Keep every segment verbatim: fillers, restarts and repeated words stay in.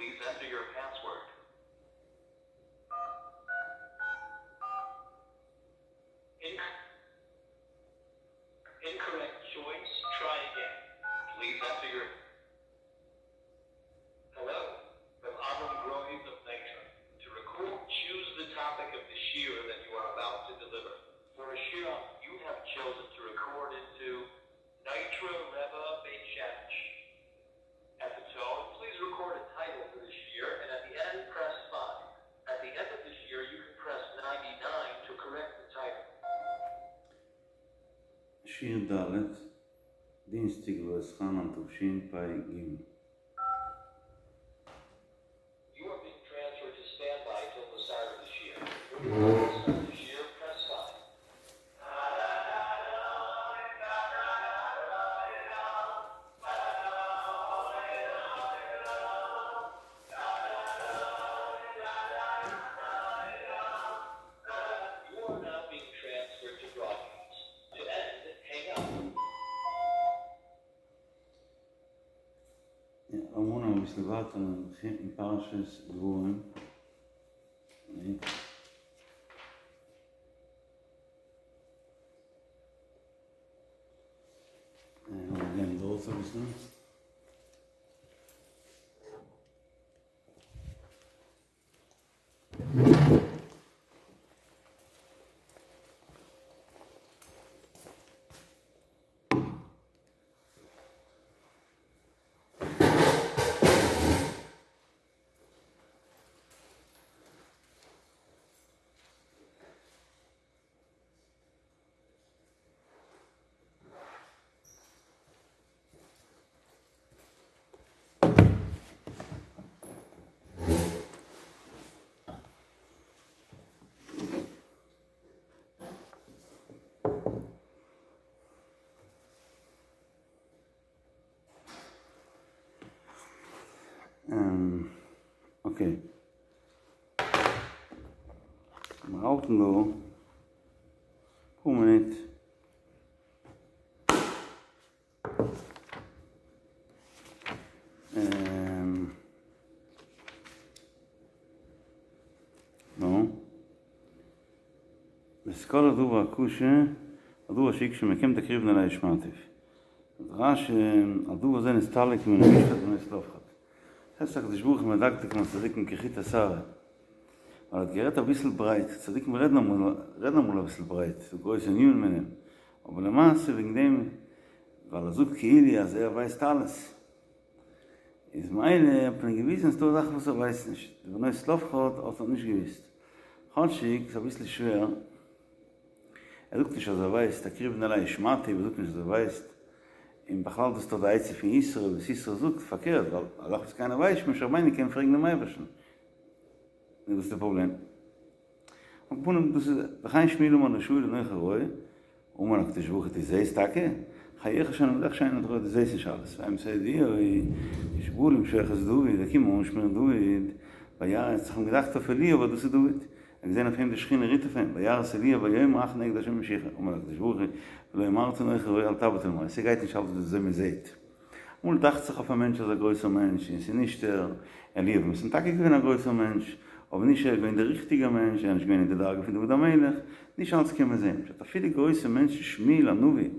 Please enter your password. Inc- incorrect choice. Try again. Please enter your Hello, from Avram Groves of Nitra. To record, choose the topic of the shiur that you are about to deliver. For a shiur, you have chosen to record into Nitra Rebbe Beit Shemesh. At the tone, please record a title for the shiur, and at the end, press five. At the end of the shiur, you can press ninety-nine to correct the title. שיעור ד', דינסטיק ואתחנן תשפ"ג. You are being transferred to standby till the start of the shiur. When you want to start the shiur, press five. You are now being transferred to broadcast. To end, hang up. אמרנו אביסל ווייטער אין פרשת דברים. לאמיר גיין דארט אביסל. Okay. מיר האלטן דא פאר מינוט. נו. ואת כל הדבר הקשה, הדבר שיקשה מכם תקריבון אלי שמעתיו. רש"י, הדבר הזה נסתלק מן המשפט בנות צלפחד. הייסט הקדוש ברוך הוא מדקדק עם צדיקים כחוט השערה. אבל האט גערעדט אביסל ברייט, צדיקים רעדן אמאל, רעדן אמאל אביסל ברייט, ס'דא גרויסע ענינים אין אים. אבער למעשה וועגן דעם, ווייל ער זאגט כאילו אז ער ווייסט אלעס, איז מילא האט מען געוויזן אז ס'דא זאכן וואס ער ווייסט נישט. די בנות צלפחד האט ער נישט געוויסט. כאטשיג ס'איז אביסל שווער, ער זאגט נישט אז ער ווייסט, תקריבון אלי שמעתיו, ער זאגט נישט אז ער ווייסט, און בכלל דאס איז דאך די עצה פון יתרו, וואס יתרו זאגט פארקערט, ווייל א זאך וואס קיינער ווייסט נישט, משה רבינו קען פרעגן דעם אייבערשטן. נו וואס איז די פראבלעם? על כל פנים דאס איז וכן שמואל אמר לשאול אנכי רואה, אמר הקדוש ברוך הוא דו זעסט טאקע? חייך שאני זאך שאין אתה רואה דו זעסט נישט אלעס, והאמת הידועה כשבא למשוח את דוד, געקומען אנשמירן דוד, וירא האט זיך אים געדאכט אויף אליאב אז דאס איז דוד, ער האט געזען אויף אים די שכינה רוט אויף אים, וירא את אליאב ויאמר אך נגד השם משיחו, אמר הקדוש ברוך הוא, ולא אמרת אנכי רואה אל תביט אל מראה, ס'גייט נישט אלץ ווי אזוי מען זעט. אמאל דאכט זיך אויף א מענטש אז א גרויסער מענטש, און ס'איז נישט ער, אליאב איז טאקע געווען א גרויסער מענטש, אבער נישט ער איז געווען דער ריכטיגער מענטש, ער איז נישט געווען אין די דרגה פון דוד המלך, נישט אלץ קען מען זען, פשט אפילו גרויסע מענטשן שמואל הנביא,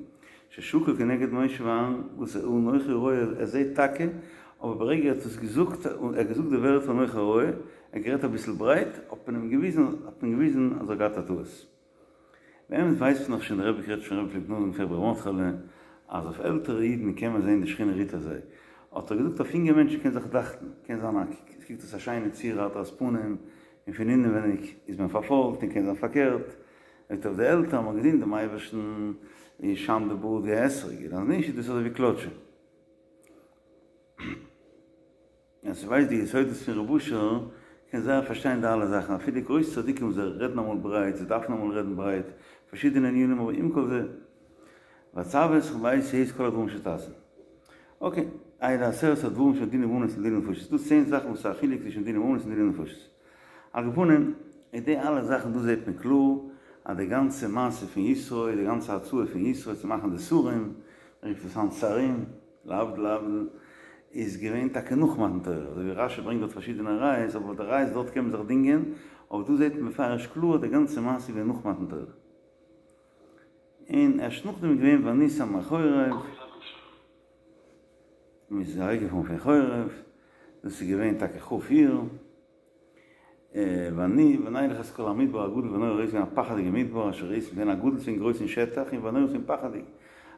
ששקול כנגד משה ואהרן, וואס ער אנכי רואה, ער זעט טאקע, אבער ברגע ער האט עס געזאגט, ער האט געזאגט די ווערטער אנכי רואה, ער האט גערעדט אביסל ברייט, האט מען אים געוויזן, האט מען געוויזן אז ער האט געהאט א טעות. באמת ווייסט מען דאך שוין, דער רבי גערעדט שוין רבי פלעגט נאכזאגן פון רבי ר' מרדכי'לע, אז אויף עלטערע אידן קען מען זען די שכינה רוט אויף זיי, האט ער געזאגט אויף יונגע מענטשן קען זיך דאכטן, קען זיין א עס קוקט אויס א שיינע צורה הדרת פנים, און פון אינעווייניג איז מען פארפוילט, און קען זיין פארקערט, זאגט ער אויף די עלטער האט מען געדינט דעם אייבערשטן, איז שיינט די בארד ווי א אתרוג, און אז נישט איז דאס אזוי ווי קלאטשע. ווער ס'ווייסט די יסודות פון רב אשר קען זייער פארשטיין די אלע זאכן, אפילו גרויסע צדיקים זיי רעדן אמאל ברייט, זיי דארפן אמאל רעדן ברייט, פארשידענע ענינים אבער עם כל זה, ואצוה אתכם בעת ההיא את כל הדברים אשר תעשון. Okay, אלה עשרת הדברים שבין דיני ממונות לדיני נפשות, ס'דא צען זאכן וואס איז א חילוק צווישן דיני ממונות און דיני נפשות. על כל פנים, אין די אלע זאכן דא זעט מען קלאר אז די גאנצע מעשה פון יתרו, די גאנצע הצעה פון יתרו צו מאכן די שרים, מען רופט עס היינט שרים, להבדיל להבדיל, איז געווען טאקע נאך מתן תורה, אזוי ווי רשי ברענגט דארט פארשידענע ראיות, אבער די ראיות דארט קען מען זיך דינגען, אבער דא זעט מען מפורש קלאר די גאנצע מעשה איז געווען נאך מתן תורה. און ערשט נאכדעם איז געווען ונוסע מחורב, מען איז אוועקגעפארן פון חורב, דאס איז געווען טאקע כ' אייר, ואני ונלך את כל המדבר הגדול והנורא ראיתם געווען א פחד'יגע מדבר אשר ראיתם געווען א גדול ס'איז גרויס אין שטח און והנורא ס'איז פחד'יג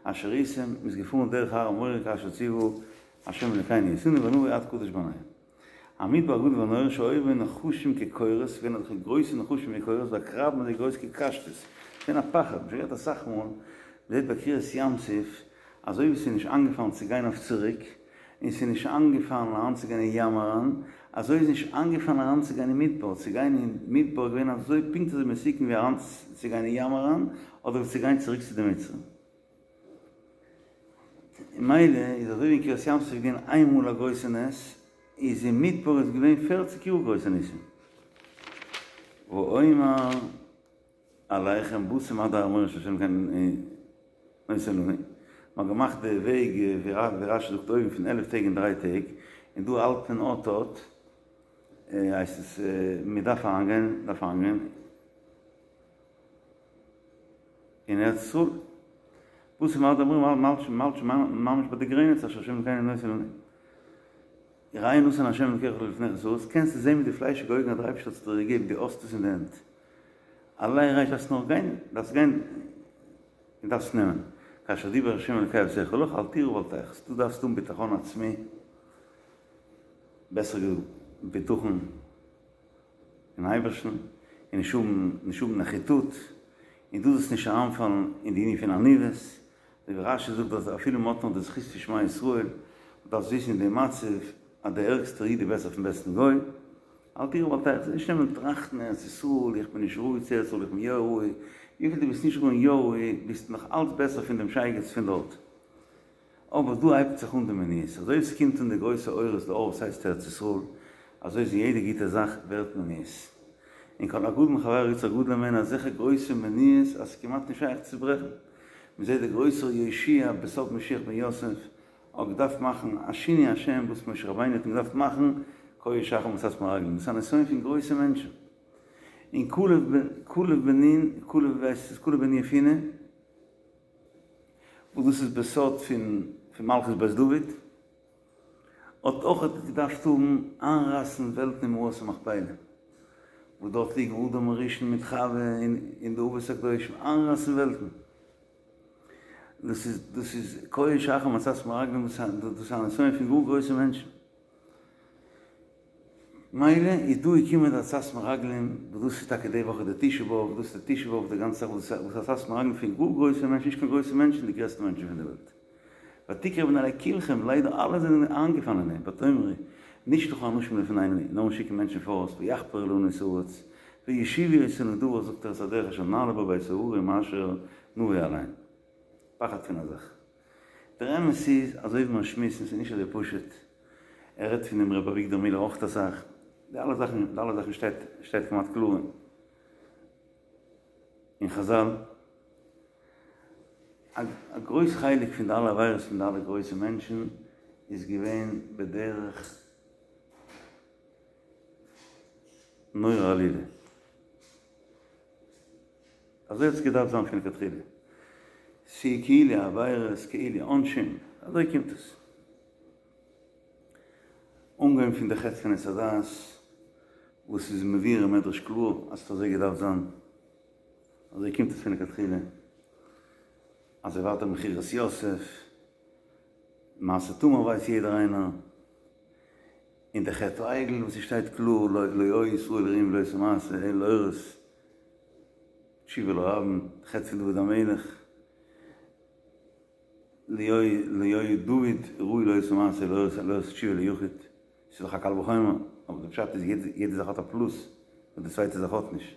אשר ראיתם מ'איז געפארן דרך הר המורה כאשר ציוה ה' אלקינו אותנו ונבוא עד קדש ברנע המדבר הגדול והנורא שהיו בו נחשים כקורות ס'געווען אזעלכע גרויסע נחשים ווי קורות ועקרבים אזוי גרויס כקשתות ס'געווען א פחד מ'האט שוין גערעדט אסאך מאל מ'זעט ביי קריעת ים סוף אזוי ווי ס'איז נישט איינגעפאלן צו גיין אויף צוריק און ס'איז נישט איינגעפאלן אריינצוגיין אין ים אריין, אזוי איז נישט איינגעפאלן אריינצוגיין אין מדבר, צו גיין אין מדבר איז געווען אזוי פונקט אזוי מסוכן ווי אריינצוגיין אין ים אריין, אדער ווי צו גיין צוריק צו די מצרים. ממילא איז אזוי ווי אין קריעת ים סוף איז געווען איין מאל א גרויסע נס, איז אין מדבר איז געווען פערציג יאר גרויסע ניסים. ואומר. אליכם באתם עד הר המורה אשר ה' אלקינו נותן לנו, מען האט געמאכט די וועג ווי רשי זאגט אויבן פון עלף טעג און דריי טעג, און דא האלט מען אט אט, הייסט עס מען דארף אריינגיין, דארף אריינגיין אין ארץ ישראל, באתם עד הר המורה מ'האלט שוין ממש ביי די גרעניץ אשר ה' אלקינו נותן לנו. ראה נתן ה' אלקיך לפניך את הארץ, קענסטו זען מיט די פליישיגע אויגן אז דער אייבערשטער האט עס דיר געגעבן, דו האסט עס אין די הענט. עלה וראה דארפסט נאר גיין, דארפסט גיין און דארפסט נעמען. כאשר דיבר ה' אלקי אבותיך לך אל תירא ואל תחת, דו דארפסט האבן בטחון עצמי, בעסער געזאגט בטחון אין אייבערשטן, און נישט האבן נישט האבן נחיתות, און דו זאלסט נישט אריינפאלן אין די ענין פון עניוות, אזוי ווי רשי זאגט אז אפילו מען האט נאר די זכות פון שמע ישראל, דארפסט וויסן אין די מצב אז דער ערגסטער איד איז בעסער פון בעסטן גוי, אל תירא ואל תחת, נישט נעמען טראכטן ארץ ישראל, איך בין נישט ראוי צו ארץ ישראל, איך בין יא ראוי, וויפיל דו ביסט נישט ראוי און יא ראוי, ביסט נאך אלץ בעסער פון דעם שייגעץ פון דארט. אבער דא הייבט זיך אן די מניעות, אזוי ווי ס'קומט אן די גרויסע אורות די אור וואס הייסט ארץ ישראל, אזוי איז אין יעדע גוטע זאך ווערט מניעות. און כל הגדול מחבירו יצר גדול הימנו אזעלכע גרויסע מניעות אז ס'כמעט נישט שייך צו ברעכן. מ'זעט דער גרויסער יהושע בסוד משיח בן יוסף האט געדארפט מאכן א שינוי השם וואס משה רבינו האט אים געדארפט מאכן כהה אחר מצת מרגלים, דאס איז א נסיון פון גרויסע מענטשן. און כלב בן נון, כלב ווייסט איז כלב בן יפונה, וואס דאס איז בסוד פון פון מלכות בית דוד, האט אויך געדארפט האבן איינרייסן וועלטן אין מערת המכפלה, וואס דארט ליגן אדם הראשון מיט חווה און די אבות הקדושים, איינרייסן וועלטן. דאס איז דאס איז כהה אחר מצת מרגלים, דאס איז א נסיון פון גאר גרויסע מענטשן. מילא איז דא געקומען די עצת מרגלים, וואס דאס איז טאקע די וואך איז די תשעה באב, דאס איז די תשעה באב די גאנצע זאך וואס איז עצת מרגלים פון גאר גרויסע מענטשן, נישט קיין גרויסע מענטשן, די גרעסטע מענטשן פון די וועלט. ותקרבון אלי כולכם, ליידער אלע זענען איינגעפאלן אין דעם, ותאמרו, נשלחה אנשים לפנינו, לאמיר שיקן מענטשן פאראויס, ויחפרו לנו את הארץ, וישיבו אותנו דבר זאגט ער את הדרך אשר נעלה בה ואת ההרים אשר נבוא עליהם. פחד פון א זאך. דער אמת איז, אזוי ווי מיר שמועסן, ס'איז נישט אזוי פשוט. ער רעדט פון דעם ר' אביגדור מילער אויך אסאך. די אלע זאכן, די אלע זאכן שטייט, שטייט כמעט קלאר אין חזל. א גרויס חלק פון די אלע עבירות פון די אלע גרויסע מענטשן איז געווען בדרך נורא עלילה. אזוי האט עס געדארפט זיין פון לכתחילה. ס'איז כאילו עבירות, כאילו עונשים, אזוי קומט עס. אנגעהויבן פון די חטא פון עץ הדעת, וואס איז מבואר אין מדרש קלאר אז ס'האט אזוי געדארפט זיין. אזוי קומט עס פון לכתחילה. אזוי ווייטער מכירת יוסף, מעשה תמר ווייסט יעדער איינער. און די חטא העגל וואס ס'שטייט קלאר לא היו ישראל ראויים לאותו מעשה אלא להורות תשובה לרבים, די חטא פון דוד המלך, לא היה דוד ראוי לאותו מעשה אלא להורות תשובה ליחיד, ס'איז דאך א קל וחומר, אבער די פשט איז יעדע זאך האט א פלוס וואס די צווייטע זאך האט נישט.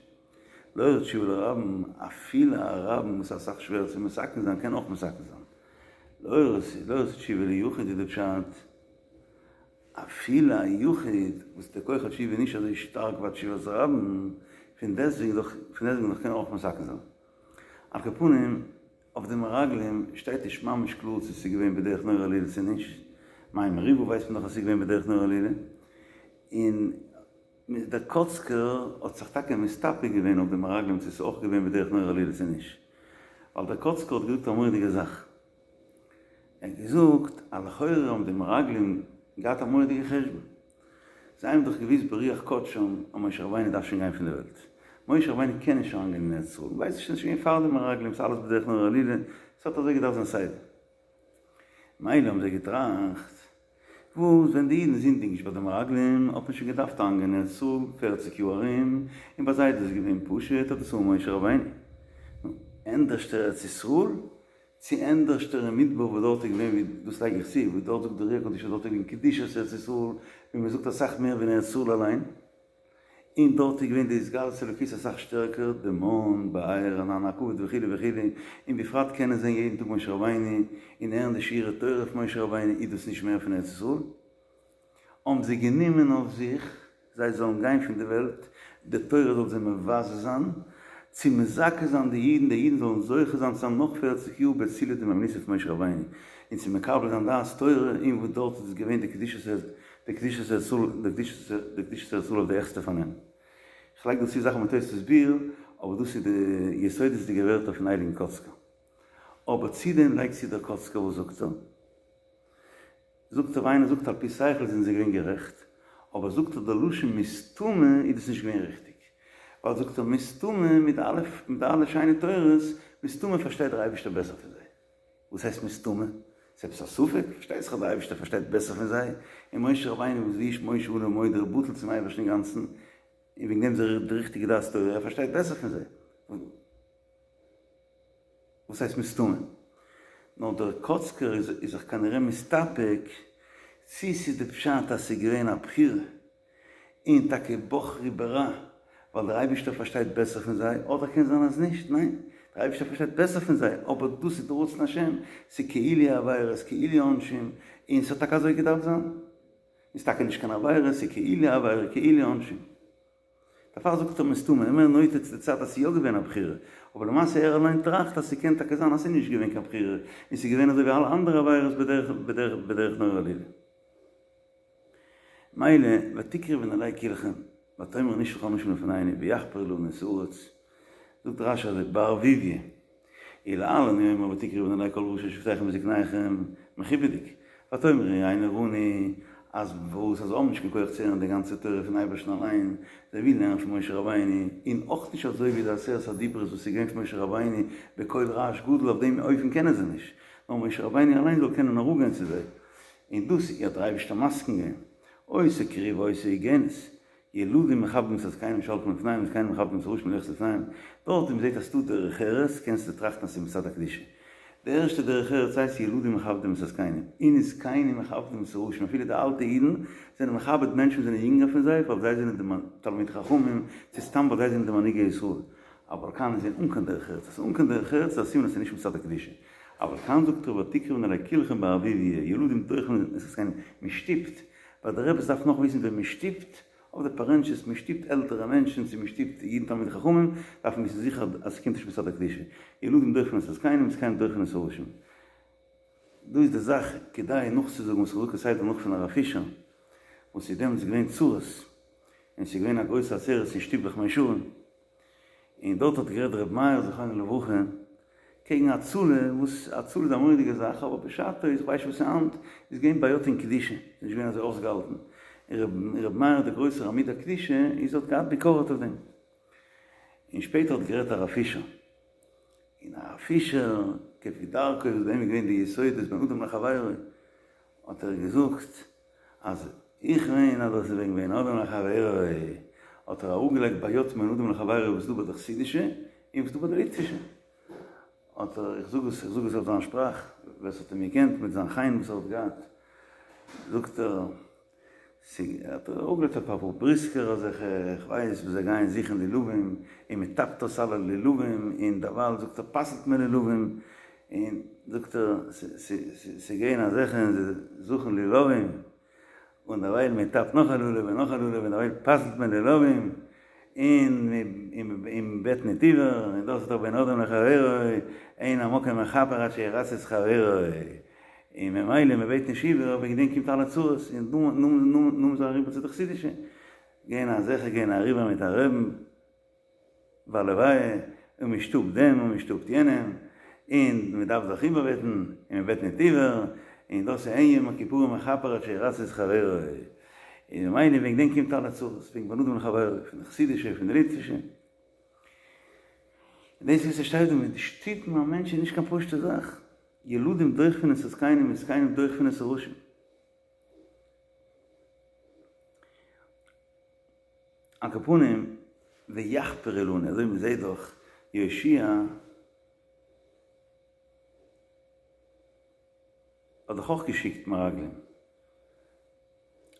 להורות תשובה לרבים, אפילו א רבים וואס איז אסאך שווערער צו מתקן זיין קען אויך מתקן זיין. להורות תשובה ליחיד איז די פשט. אפילו א יחיד וואס די כח התשובה איז נישט אזוי שטארק ווי א תשובת רבים, פון דעסטוועגן דאך פון דעסטוועגן דאך קען ער אויך מתקן זיין. על כל פנים, אויף די מרגלים שטייט נישט ממש קלאר צו ס'איז געווען בדרך נורא עלילה צו נישט, מי מריבה ווייסט מען דאך אז ס'איז געווען בדרך נורא עלילה, און דער קאצקער האט זיך טאקע מסתפק געווען אויף די מרגלים צו ס'איז אויך געווען בדרך נורא עלילה צו נישט, ווייל דער קאצקער האט געזאגט א מורא'דיגע זאך, ער האט געזאגט אז לכאורה האבן די מרגלים געהאט א מורא'דיגע חשבון, זיי האבן דאך געוואוסט ברוח קדשם אז משה רבינו דארף שוין גיין פון די וועלט, משה רבינו קען נישט אריינגיין אין ארץ ישראל, מ'ווייסט נישט ס'איז שוין געווען פאר די מרגלים, ס'איז אלעס בדרך נורא עלילה, ס'האט אזוי געדארפט זיין סדר. מילא האבן זיי געטראכט, וואס ווען די אידן זינדיגן נישט ביי די מרגלים האט מען שוין געדארפט אריינגיין אין ארץ ישראל פערציג יאר ארום, און ביי זיי איז דאס געווען פשוט האט עס אן משה רבינו. נו, ענדערשטער ארץ ישראל צו ענדערשטער אין מדבר וואס דארט איז געווען ווי דאס לייג איך צו וואס דארט זאגט דער אר"י הקדוש אז דארט איז געווען קדושת ארץ ישראל ווי מען זאגט אסאך מער ווי אין ארץ ישראל אליין, און דארט איז געווען די התגלות אלוקית אסאך שטערקער, די מן, באר, ענן הכבוד וכו' וכו', און בפרט קענען זען יעדן טאג משה רבינו און הערן די שיעורי תורה פון משה רבינו איז דאס נישט מער פון ארץ ישראל? האבן זיי גענומען אויף זיך זיי זאלן גיין פון די וועלט, די תורה זאל זיי מבזה זיין, צו מזכה זיין די אידן, די אידן זאלן זוכה זיין צו זיין נאך פערציג יאר בצילא דמהימנותא פון משה רבינו, און צו מקבל זיין דעת תורה, און וואס דארט איז געווען די קדושת די קדושת ארץ ישראל, די קדושת די קדושת ארץ ישראל אויף די העכסטע פארנעם. איך לייג דא צו זאכן מיט תוספות ביאור, אבער דאס איז די יסודות'דיגע ווערטער פון הייליגן קאצקער. אבער צו דעם לייגט צו דער קאצקער וואס זאגט ער? זאגט ער ווי איינער זאגט על פי שכל זענען זיי געווען גערעכט, אבער זאגט ער די לשון מסתמא איז דאס נישט געווען ריכטיג, ווייל זאגט ער מסתמא מיט די אלע מיט די אלע שיינע תורות, מסתמא פארשטייט דער אייבערשטער בעסער פון זיי. וואס הייסט מסתמא? ס'איז עפעס א ספק? פארשטייט זיך אז דער אייבערשטער פארשטייט בעסער פון זיי, און משה רבינו וואס והאיש משה עניו מאוד ער בטל צום אייבערשטן אינגאנצן, און וועגן דעם איז ער די ריכטיגע דעת תורה, ער פארשטייט בעסער פון זיי. וואס הייסט מסתמא? נאר דער קאצקער איז זיך כנראה מסתפק צי ס'איז די פשט אז ס'איז געווען א בחירה און טאקע בחרו ברע ווייל דער אייבישטער פארשטייט בעסער פון זיי, אדער קען זיין אז נישט, ניין, דער אייבישטער פארשטייט בעסער פון זיי, אבער דאס איז די רצון השם, ס'איז כאילו עבירות, כאילו עונשים, און ס'האט טאקע אזוי געדארפט זיין. איז טאקע נישט קיין עבירה, ס'איז כאילו עבירה, כאילו עונשים. דערפאר זאגט ער מסתמא, ער מער נוטה צו די צד אז ס'איז יא געווען א בחירה, אבער למעשה ער אליין טראכט אז ס'קען טאקע זיין אז ס'איז נישט געווען קיין בחירה, און ס'איז געווען אזוי ווי אלע אנדערע עבירות בדרך בדרך בדרך נורא עלילה. מילא, ותקרבון אלי כלכם, ותאמרו נשלח אנשים לפנינו ויחפרו לנו את הארץ, זאגט רש"י אזוי, בערבוביא, ולהלן הוא אומר ותקרבון אלי כל ראשי שבטיכם וזקניכם, מכובד'יג, ותאמרו רענו רענו, אז וואס אז זיי האבן נישט קיין כח צו הערן די גאנצע תורה פון אייבערשטן אליין, זיי ווילן הערן פון משה רבינו, און אויך נישט אזוי ווי די עשרת הדיברות וואס איז געווען פון משה רבינו בקול רעש גדול אויף דעם אופן קענען זיי נישט, נאר משה רבינו אליין זאל קענען אראפגיין צו זיי, און דאס האט דער אייבערשטער מסכים געווען, אותה קריבה אותה הוגנת, ילדים מכבדים את הזקנים שהולכים לפניהם וזקנים מכבדים את הראשים ללכת לפניהם, דארט ווי מ'זעט אז ס'דא דרך ארץ קענסטו טראכטן אז ס'איז מצד הקדושה. די ערשטע דרך ארץ הייסט ילדים מכבדים את הזקנים, און זקנים מכבדים את הראשים, אפילו די אלטע אידן זענען מכבד מענטשן וואס זענען יונגער פון זיי ווייל זיי זענען די תלמידי חכמים, צו סתם ווייל זיי זענען די מנהיגי ישראל. אבל כאן איז אן קיין דרך ארץ, אז ס'איז אן קיין דרך ארץ איז א סימן אז ס'איז נישט מצד הקדושה. אבל כאן זאגט ער ותקרבון אלי כלכם בערבוביא, ילדים דוחין את הזקנים, מ'שטופט, ווייל די רעבעס דארף נאך וויסן ווען מען שטופט אויף די פארענטשעס, מען שטופט עלטערע מענטשן צו מען שטופט אידן תלמידי חכמים, דארף מען וויסן זיכער אז ס'קומט נישט מצד הקדושה. ילדים דוחין את הזקנים וזקנים דוחין את הראשים. דא איז די זאך כדאי נאכצוזאגן וואס איך זאג כסדר נאך פון הרב פישער, וואס איז דעמאלטס געווען צרות, און ס'איז געווען א גרויסע עצרת אין שטיבלעך מאה שערים, און דארט האט גערעדט ר' מאיר זכרונו לברכה קעגן הצלה, וואס הצלה איז א מורא'דיגע זאך, אבער בשעתו איז כ'ווייס נישט וואס איז היינט, איז געווען בעיות אין קדושה, ס'איז נישט געווען אזוי אויסגעהאלטן, און ר' מאיר דער גרויסער עמוד הקדושה איז האט געהאט ביקורת אויף דעם. און שפעטער האט גערעדט הרב פישער, און הרב פישער כפי דרכו וואס ביי אים איז געווען די יסודות בין אדם לחבירו, האט ער געזאגט אז איך מיין אז דאס איז וועגן בין אדם לחבירו, האט ער אראפגעלייגט בעיות בין אדם לחבירו וואס איז דא ביי די חסידישע און וואס איז דא ביי די ליטווישע, האט ער, איך זאג עס, איך זאג עס אויף זיין שפראך, ווער ס'האט אים געקענט מיט זיין חן וואס ער האט געהאט, זאגט ער, האט ער אראפגעלייגט אפאר פאר בריסקער אזעלכע, איך ווייס וואס זיי גייען זוכן לולבים, און מען טאפט אויס אלע לולבים, און דערווייל זאגט ער פסל'ט מען לולבים, און זאגט ער ס'גייען אזעלכע און זיי זוכן לולבים, און דערווייל מען טאפט נאך א לולב און נאך א לולב און דערווייל פסל'ט מען לולבים, און מען בעט ניט איבער, און דאס איז דאך בין אדם לחבירו, אין המקום מכפר עד שירצה את חברו. און ממילא מען בעט נישט איבער, וועגן דעם קומט אלע צרות, און נאכדעם איז ער אריבער צו די חסידישע, גייען אזעלכע גייען אריבער מיט א רעבן ביי לוויה, און מען שטופט דעם און מען שטופט יענעם, און מען דארף זיך איבערבעטן, און מען בעט ניט איבער, און דאס איז אין יום הכיפורים מכפר עד שירצה את חברו, און ממילא וועגן דעם קומט אלע צרות, וועגן בין אדם לחברו, פון די חסידישע, פון די ליטווישע. און דאס וואס עס שטייט דא מיט שטופן א מענטש איז נישט קיין פשוטע זאך, ילדים דוחפין את הזקנים וזקנים דוחפין את הראשים. על כל פנים, ויחפרו לנו, אזוי ווי מ'זעט דאך יהושע האט דאך אויך געשיקט מרגלים,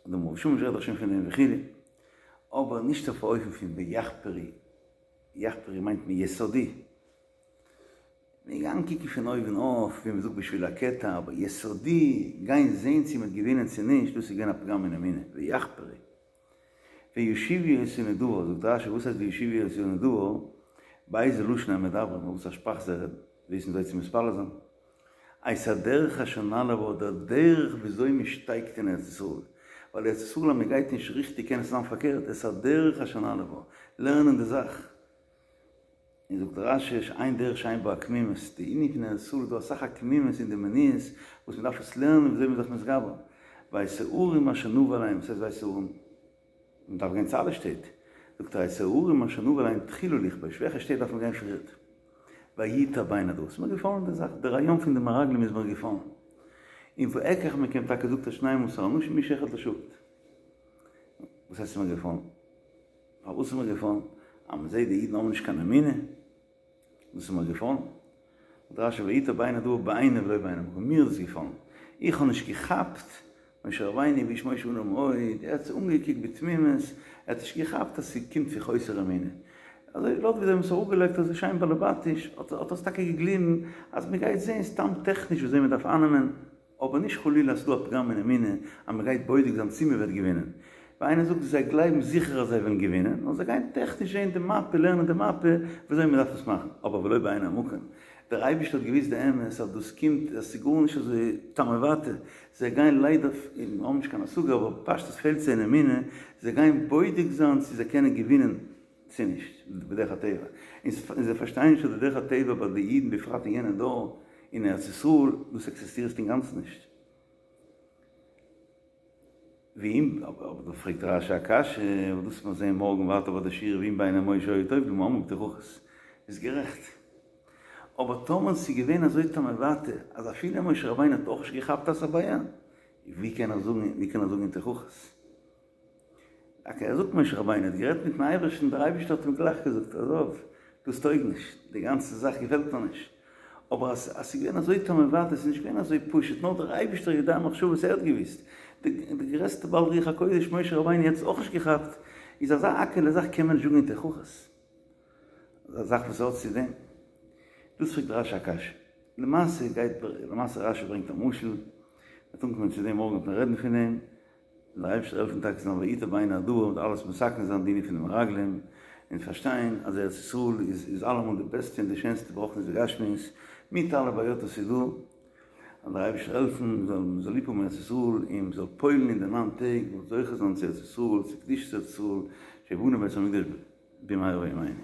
דער מהרש"א רעדט דאך שוין פון דעם וכו', אבער נישט אויף א אופן פון ויחפרו, יחפרו מיינט מען יסודי, מ'איז געגאנגען קוקן פון אויבן אויף, ווי מ'זאגט בשביל הקטע, אבער יסודי, גיין זען צו מ'האט געווינען צו נישט, דאס איז געווען א פגם אין אמונה, ויחפרו. ויושיבו אותנו דבר, זאגט רשי, וואס הייסט ויושיבו אותנו דבר? באיזה לשון הם מדברים, אויף וואס א שפראך זיי רעדן, וויסן זיי צו מתפלל זיין? את הדרך אשר נעלה בה, דער דרך וויאזוי מען שטייגט אין ארץ ישראל, ווייל ארץ ישראל אז מען גייט נישט ריכטיג קען עס זיין פארקערט, את הדרך אשר נעלה בה, לערנען די זאך. און זאגט רשי שאין דרך שאין בה עקמימות, די ענין פון ארץ ישראל איז דא אסאך עקמימות אין די מניעות וואס מען דארף עס לערנען וויאזוי מען איז זיך מתגבר, ואת הערים אשר נבא אליהם, וואס הייסט ואת הערים? מען דארף גיין צו אלע שטעט, זאגט ער את הערים אשר נבא אליהם תחילה לכבוש, וועלכע שטעט דארף מען גיין פריערט? וייטב בעיני הדבר, ס'איז מיר געפאלן די זאך, די רעיון פון די מרגלים איז מיר געפאלן, און ואקח מכם טאקע זאגט ער שנים עשר אנשים איש אחד לשבט, וואס הייסט ס'איז מיר געפאלן? פארוואס איז מיר געפאלן? אז מען זעט די אידן האבן נישט קיין אמונה, דאס איז מיר געפאלן. זאגט רשי וייטב בעיני הדבר בעיני ולא בעיני המקום, מיר איז עס געפאלן, איך האב נישט געכאפט, משה רבינו והאיש משה עניו מאוד, ער האט עס אנגעקוקט בתמימות, ער האט נישט געכאפט אז ס'קומט פון חוסר אמונה. אזוי לויט ווי זיי האבן עס אראפגעלייגט אזוי שיין באלעבאטיש, האט ער עס טאקע געגליבן אז מען גייט זען סתם טעכניש וויאזוי מען דארף אייננעמען, אבער נישט חלילה אז ס'דא א פגם אין אמונה אז מ'גייט בודק זיין צי מ'וועט געווינען. ווי איינער זאגט זיי גלייבן זיכער אז זיי וועלן געווינען, נאר זיי גייען טעכניש זעהן די מאפע, לערנען די מאפע וויאזוי מ'דארף עס מאכן, אבער ולא בעיני המקום. דער אייבערשטער האט געוויסט די אמת אז דאס קומט, אז ס'איז גארנישט אזוי תמ'עוואטע, זיי גייען ליידער, און האבן נישט קיין השגה, אבער פשטות פעלט זיי אין אמונה, זיי גייען בודק זיין צי זיי קענען געווינען צו נישט, בדרך הטבע. און זיי פארשטייען נישט אז די דרך הטבע ביי די אידן בפרט אין יענע דור אין ארץ ישראל, דאס עקזיסטירט אינגאנצן נישט. ואם, אבער דא פרעגט רשי א קשיא, וואס דאס וועט מען זעהן מארגן ווייטער ביי די שיעור ואם בעיני משה היה טוב למה אמרו בתוכחות, איז גערעכט. אבער טאמער ס'איז געווען אזוי תמ'עוואטע אז אפילו משה רבינו האט אויך נישט געכאפט אז ס'איז א בעיה, ווי קען ער זאגן, ווי קען ער זאגן אין תוכחות? אקעי, ער זאגט משה רבינו האט גערעדט מיטן אייבערשטן, דער אייבערשטער האט אים גלייך געזאגט, עזוב, דאס טויג נישט, די גאנצע זאך געפעלט מיר נישט. אבער אז ס'איז געווען אזוי תמ'עוואטע, ס'איז נישט געווען אזוי פשוט, נאר דער אייבערשטער יודע מחשבות ער האט געוואוסט, די גרעסטע בעל רוח הקודש משה רבינו האט עס אויך נישט געכאפט, איז אזא האקעלע זאך קען מען נישט זאגן אין תוכחות. אזא זאך וואס האט צו דעם. דאס פרעגט רשי א קשיא. למעשה גייט, למעשה רשי ברענגט א משל, מ'וועט אנקומען צו דעם מארגן וועט מען רעדן פון דעם. זאל דער אייבערשטער העלפן טאקע זאל וייטב בעיני הדבר און אלעס מתקן זיין די ענין פון די מרגלים און פארשטיין אז ארץ ישראל איז איז אלעמאל די בעסטע און די שענסטע ברוחניות וגשמיות מיט אלע בעיות וואס איז דא, זאל דער אייבערשטער העלפן מ'זאל מ'זאל ליב האבן ארץ ישראל און מ'זאל פועל'ן אין די ניין טעג מ'זאל זוכה זיין צו ארץ ישראל צו קדושת ארץ ישראל שיבנה בית המקדש במהרה בימינו.